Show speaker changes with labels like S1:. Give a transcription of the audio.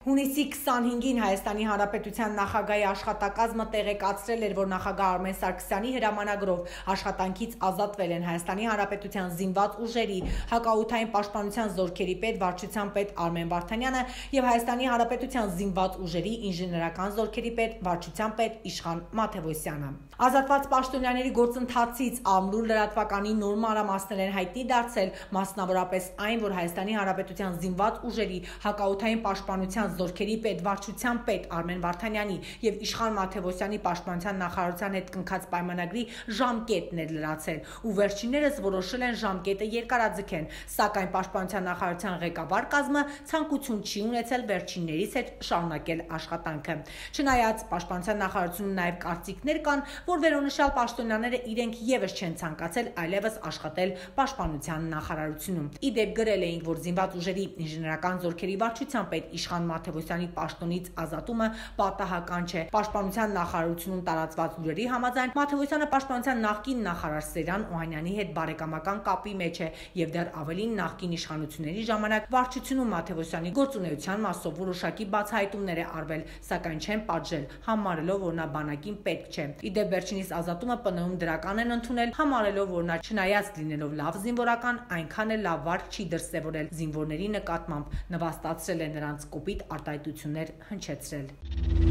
S1: Հունիսի 25-ին Հայաստանի Հանրապետության նախագահի աշխատակազմը տեղեկացրել էր, որ նախագահ Արմեն Սարգսյանի հրամանագրով աշխատանքից ազատվել են Հայաստանի Հանրապետության զինված ուժերի հակաօդային պաշտպանության զորքերի պետ վարչության պետ Արմեն Վարդանյանը եւ Հայաստանի Հանրապետության զինված ուժերի ինժեներական զորքերի պետ վարչության պետ Իշխան Մաթևոսյանը։ Ազատված պաշտոնյաների գործընթացից ամրուր լրատվականի նոր մանրամասներ են հայտնի դարձել, մասնավորապես այն, որ Հայաստանի Հանրապետության զինված ուժերի հակաօդային պաշտպանության զորքերի պետ վարչության պետ Արմեն Վարդանյանի եւ Իշխան Մաթևոսյանի պաշտպանության նախարարության հետ կնքած պայմանագրի ժամկետն էր լրացել ու վերջիններս որոշել են ժամկետը երկարաձգեն, սակայն պաշտպանության նախարարության ղեկավար կազմը ցանկություն չի ունեցել վերջիններից հետ շարունակել աշխատանքը։ Չնայած պաշտպանության նախարարությունում նաեւ կարծիքներ կան, որ վերոնշյալ պաշտոնյաները իրենք եւս չեն ցանկացել այլևս աշխատել պաշտպանության նախարարությունում։ Իդեպ գրել էինք, որ զինված ուժերի ինժեներական զորքերի վարչության պետ Իշխան Մաթևոսյանի պաշտոնից ազատումը պատահական չէ։ Պաշտպանության նախարարությունում տարածված լուրերի համաձայն Մաթևոսյանը պաշտպանության նախկին նախարար Սերյան Օհանյանի հետ բարեկամական կապի մեջ է եւ դեռ ավելին նախկին իշխանությունների ժամանակ վարչությունում Մաթևոսյանի գործունեության մասով որոշակի բացահայտումներ է արվել, սակայն չեն պատժել, համարելով, որ նա բանակին պետք չէ։ Իդեպ վերջինիս ազատումը ՊՆ-ում դրական են ընդունել, համարելով, որ նա չնայած լինելով լավ զինվորական, այնքան էլ լավ վարք չի դրսևորել զինվորների նկատմամբ, նվաստացրել է նրանց կոպիտ արտահայտություններ հնչեցրել։